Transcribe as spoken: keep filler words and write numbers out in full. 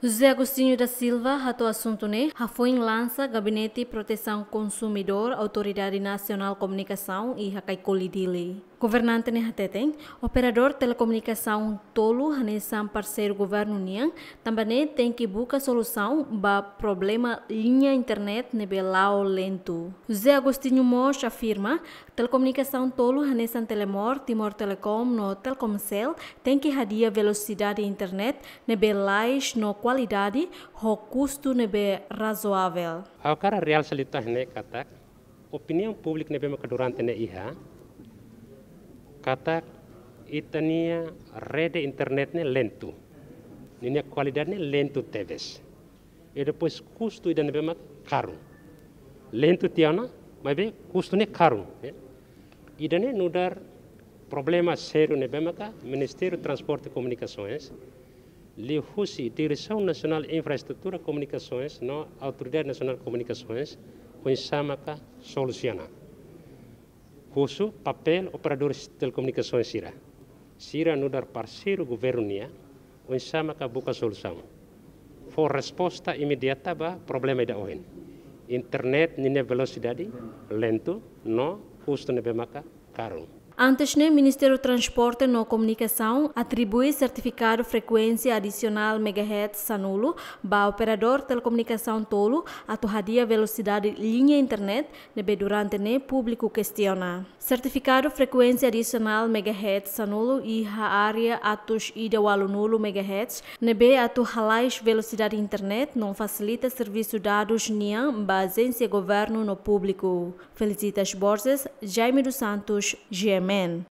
José Agostinho da Silva hato'o asuntu ne'e hafoin lansa Gabinete Protesaun Konsumidór Autoridade Nasionál Komunikasaun iha Caicoli, Dili. Governante ne'e hateten, operadór telekomunikasaun tolu hanesan parseiru governu nian, tanba ne'e tenke buka solusaun ba problema liña internet ne'ebé la'o lentu. José Agostinho mós afirma, telekomunikasaun tolu hanesan Telemor, Timor Telecom no Telkomcel tenke hadi'a velosidade internet ne'ebé lalais no kualidade ho kustu ne'ebé razoavel. Ha'u hakarak realsa liután ne'e katak, opiniaun públika ne'ebé maka durante ne'e iha, katak ita-nia rede internet ne'e lentu. Ninia kualidade ne'e lentu tebes. I depois kustu ida ne'ebé maka karu. Lentu tiha ona, maibé kustu ne'e karu, ya. Ida-ne'e nu'udar problema sériu ne'ebé maka Ministériu Transporte e Komunikasoens, liuhusi Diresaun Nasionál Infraestrutura Komunikasoens no Autoridade Nasionál Komunikasoens, oinsá maka solusiona. Husu papél operadores telekomunikasoens sira. Sira nu'udar parseiru governu nian, oinsá maka buka solusaun. Fó resposta imediata ba problema ida ohin. Internet ninia velosidade lentu no kustu ne'ebé maka karu. Antes ne'e, Ministériu Transporte no Komunikasaun atribui sertifikadu frekuénsia adisionál megahertz sanulu ba operadór telekomunikasaun tolu atu hadi'a velosidade liña internet ne'ebé durante ne'e públiku kestiona. Sertifikadu frekuénsia adisionál megahertz sanulu iha área atus ida ualunulu megahertz ne'ebé atu halais velosidade internet no fasilita servisu dadus nian ba ajénsia governu no públiku. Felicitas Borges, Jaime dos Santos, G M N.